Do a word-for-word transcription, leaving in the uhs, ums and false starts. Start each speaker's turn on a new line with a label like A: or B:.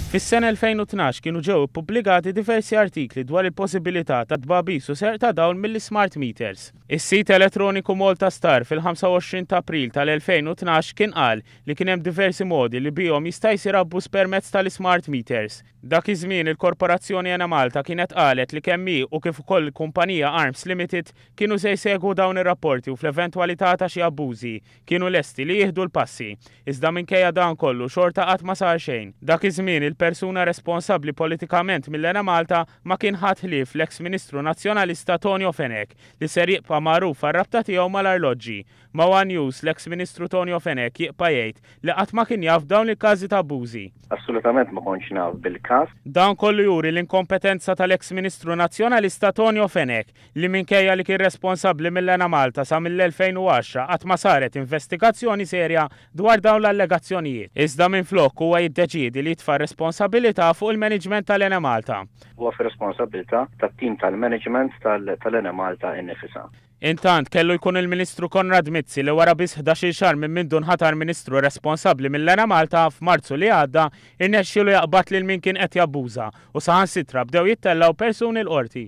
A: Fis-sena elfejn u tnax kienu ġew ippubblikati diversi artikli dwar il-possibilità ta' tbagħbis u serq ta' dawl mill-smart meters. Is-sit elettroniku Malta Star fil-ħamsa u għoxrin ta' April tal-elfejn u tnax kien qal li kien hemm diversi modi li bihom jista' jsir abbuż permezz tal-smart meters. Dak iż-żmien il-Korporazzjoni Enemalta kienet qalet li kemm hi u kif ukoll il-kumpanija Arms Limited kienu se jsegwu dawn ir-rapporti u fl-eventwalità ta' xi abbużi kienu lesti li jieħdu l-passi. Iżda minkejja dan kollu xorta qatt ma sar xejn. Dak iż-żmien il-persuna responsabbli politikament mill-Enemalta ma kien ħadd ħlief l-eks-Ministru Nazzjonalista Tonio Fenech li ser jibqa' magħruf għar-rabta tiegħu mal-arloġġi. Ma' One News l-eks-Ministru Tonio Fenech jibqa' jgħid li qatt ma kien jaf dawn il-każi ta' abbużi.
B: Assolutament ma kontx naf bil-każ.
A: Dan kollu juri l-inkompetenza tal-eks-Ministru Nazzjonalista Tonio Fenech li minkejja li kien responsabbli mill-Enemalta sa mill-elfejn u għaxra qatt ma saret investigazzjoni serja dwar dawn l-allegazzjonijiet. Iżda minflok huwa jiddeċiedi li jitfa' responsabilità fuq il-management tal-Enemalta.
B: Huwa fir-responsabilità tat-tim tal-management tal-Enemalta innifisha.
A: Intant kellu jkun il-Ministru Konrad Mizzi li wara biss ħdax-il xahar minn mindu nħatar Ministru responsabbli mill-Enemalta f'Marzu li għadda irnexxielu jaqbad lil min kien qed jabbuża u saħansitra bdew jittellgħu persuni l-qorti.